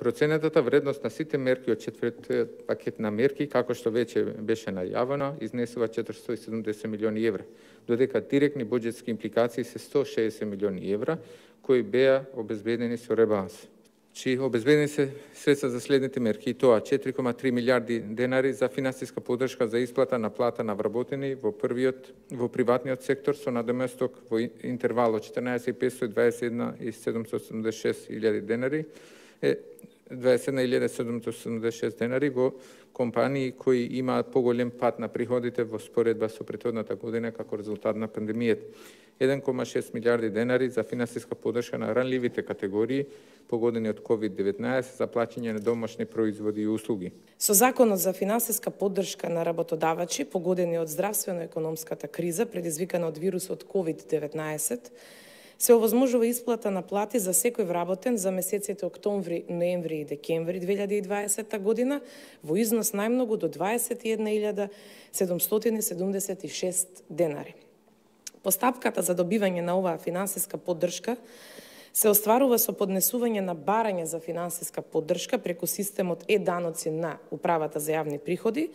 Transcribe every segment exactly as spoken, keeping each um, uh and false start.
Проценетата вредност на сите мерки од четвртиот пакет на мерки, како што веќе беше најавено, изнесува четиристотини и седумдесет милиони евра, додека директни буџетски импликации се сто шеесет милиони евра, кои беа обезбедени со ребаланс. Чи обезбедени се средства за следните мерки, и тоа четири кома три милиарди денари за финансиска поддршка за исплата на плата на вработени во првиот во приватниот сектор со надоместок во интервал од четрнаесет петстотини и дваесет и една и седумстотини и седумдесет и шест илјади денари, е дваесет и една илјади седумстотини и седумдесет и шест денари во компании кои имаат поголем пад на приходите во споредба со претходната година како резултат на пандемијата. еден кома шест милиарди денари за финансиска поддршка на ранливите категории погодени од ковид деветнаесет за плаќање на домашни производи и услуги. Со Законот за финансиска поддршка на работодавачи погодени од здравствено-економската криза предизвикана од вирусот ковид деветнаесет, се овозможува исплата на плати за секој вработен за месеците октомври, ноември и декември две илјади и дваесета година во износ најмногу до дваесет и една илјада седумстотини и седумдесет и шест денари. Постапката за добивање на оваа финансиска поддршка се остварува со поднесување на барање за финансиска поддршка преку системот е-даноци на Управата за јавни приходи,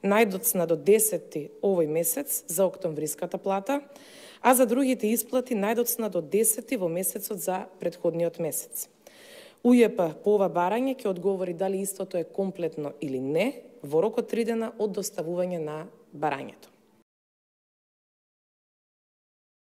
најдоцна до десети овој месец за октомвриската плата, а за другите исплати најдоцна до десети во месецот за претходниот месец. УЈП по ова барање ќе одговори дали истото е комплетно или не во рок од три дена од доставување на барањето.